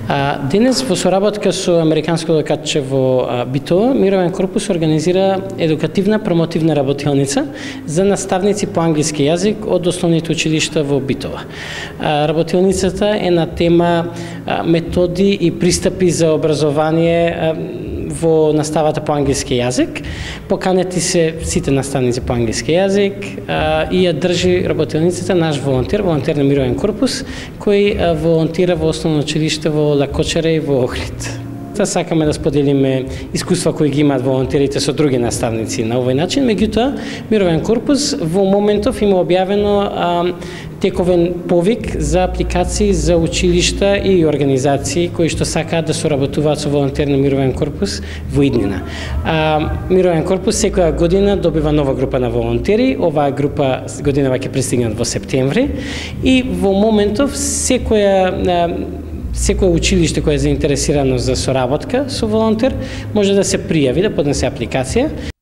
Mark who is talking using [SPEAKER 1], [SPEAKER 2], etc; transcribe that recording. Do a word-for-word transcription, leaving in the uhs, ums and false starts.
[SPEAKER 1] Денес во соработка со Американското катче во Битола, Мировен корпус организира едукативна промотивна работилница за наставници по англиски јазик од основните училишта во Битола. Работилницата е на тема методи и пристапи за образование во наставата по англиски јазик. Поканети се сите наставници по англиски јазик и ја држи работилницата наш волонтер, волонтер на Мировен корпус, кој волонтира во основно училиште во Лакочаре и во Охрид. Сакаме да споделиме искуства кои ги имаат волонтерите со други наставници на овој начин. Меѓутоа, Мировен корпус во моментов има објавено а, тековен повик за апликации за училишта и организации кои што сакаат да соработуваат со волонтер на Мировен корпус во иднина. А, Мировен корпус секоја година добива нова група на волонтери. Оваа група годинава ќе пристигнат во септември и во моментов секоја Секое училиште кое е заинтересирано за соработка со волонтер може да се пријави, да поднесе апликација.